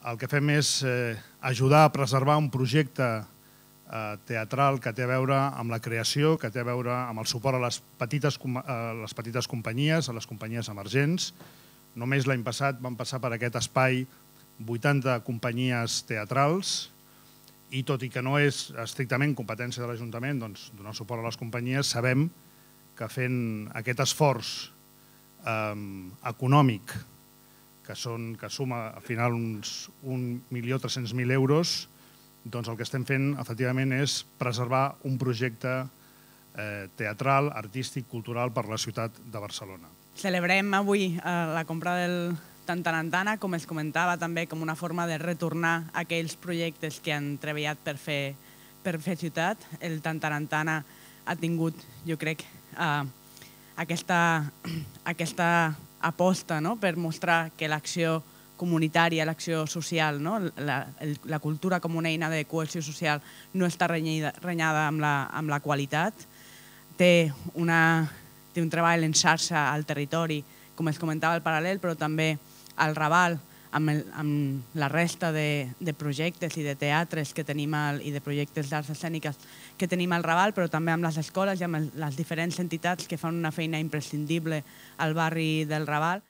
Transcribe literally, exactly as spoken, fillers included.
El que fem és ajudar a preservar un projecte teatral que té a veure amb la creació, que té a veure amb el suport a les petites, a les petites companyies, a les companyies emergents. Només l'any passat van passar per aquest espai vuitanta companyies teatrals i tot i que no és estrictament competència de l'Ajuntament donar suport a les companyies, sabem que fent aquest esforç econòmic que suma al final uns un milió tres-cents mil euros, doncs el que estem fent, efectivament, és preservar un projecte teatral, artístic, cultural per a la ciutat de Barcelona. Celebrem avui la compra del Tantarantana, com es comentava, també com una forma de retornar aquells projectes que han treballat per fer ciutat. El Tantarantana ha tingut, jo crec, aquesta aposta per mostrar que l'acció comunitària, l'acció social, la cultura com una eina de cohesió social no està renyada amb la qualitat. Té un treball en xarxa al territori, com es comentava al Paral·lel, però també al Raval, amb la resta de projectes i de teatres i de projectes d'arts escèniques que tenim al Raval, però també amb les escoles i amb les diferents entitats que fan una feina imprescindible al barri del Raval.